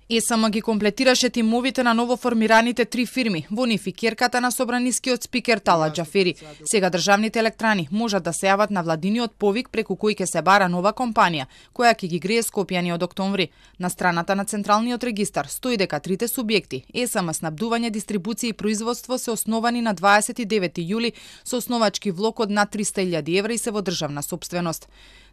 ЕСМ ги комплетираше тимовите на новоформираните 3 фирми во нив и керката на собранискиот спикер Талат Џафери. Сега државните електрани можат да се јават на владиниот повик преку кој ќе се бара нова компанија, која ќе ги грее Скопјани од октомври. На страната на Централниот регистар стои дека трите субјекти ЕСМ, снабдување, дистрибуција и производство се основани на 29 јули со основачки влог од над 300.000 евра и се во државна сопственост.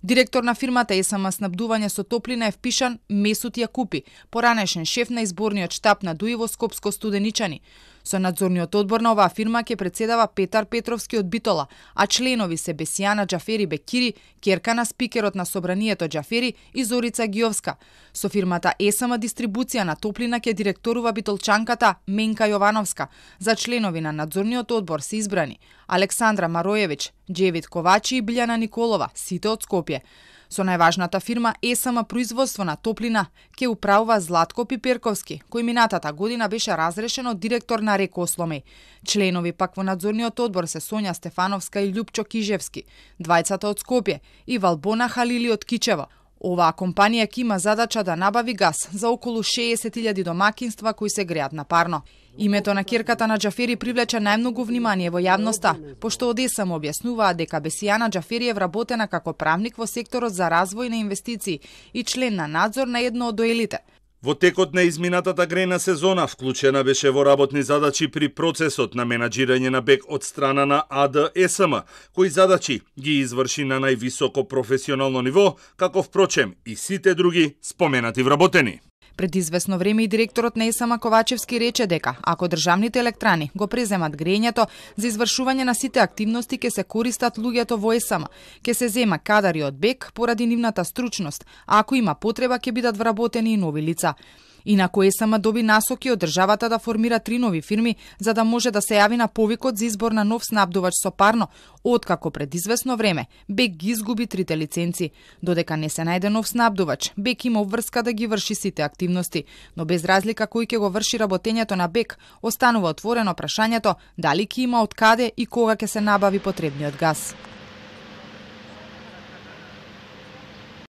Директор на фирмата ЕСМ снабдување со топлина е впишан Месут Јакупи, поранешен шеф на изборниот штаб на ДУИ во Скопско Студеничани. Со надзорниот одбор на оваа фирма ќе председава Петар Петровски од Битола, а членови се Бесијана Џафери Бекири, керка на спикерот на собранието Џафери и Зорица Гиовска. Со фирмата ЕСМ дистрибуција на топлина ќе директорува битолчанката Менка Јовановска. За членови на надзорниот одбор се избрани Александра Мароевиќ, Џевит Ковачи и Билјана Николова, сите од Скопје. Со најважната фирма ЕСМ производство на топлина ќе управува Златко Пиперковски, кој минатата година беше разрешен од директор на РЕК Осломеј. Членови пак во надзорниот одбор се Сонја Стефановска и Љупчо Кижевски, двајцата од Скопје, и Валбона Халили од Кичево. Оваа компанија ќе има задача да набави газ за околу 60.000 домакинства кои се греат на парно. Името на керката на Џафери привлече најмногу внимание во јавноста, пошто од ЕСМ објаснуваат дека Бесијана Џафери е вработена како правник во секторот за развој на инвестиции и член на надзор на едно од доелите. Во текот на изминатата грејна сезона вклучена беше во работни задачи при процесот на менаџирање на БЕК од страна на АД-ЕСМ, кои задачи ги изврши на највисоко професионално ниво, како впрочем и сите други споменати вработени. Пред известно време и директорот на ЕСМ Ковачевски рече дека ако државните електрани го преземат грејењето, за извршување на сите активности ќе се користат луѓето во ЕСМ, ќе се зема кадари од БЕК поради нивната стручност, а ако има потреба ќе бидат вработени и нови лица. Инаку ЕСМ доби насоки од државата да формира 3 нови фирми за да може да се јави на повикот за избор на нов снабдувач со парно, откако пред известно време БЕК ги изгуби 3 лиценци. Додека не се најде нов снабдувач, БЕК има обврска да ги врши сите активности, но без разлика кој ќе го врши работењето на БЕК, останува отворено прашањето дали ќе има од каде и кога ќе се набави потребниот газ.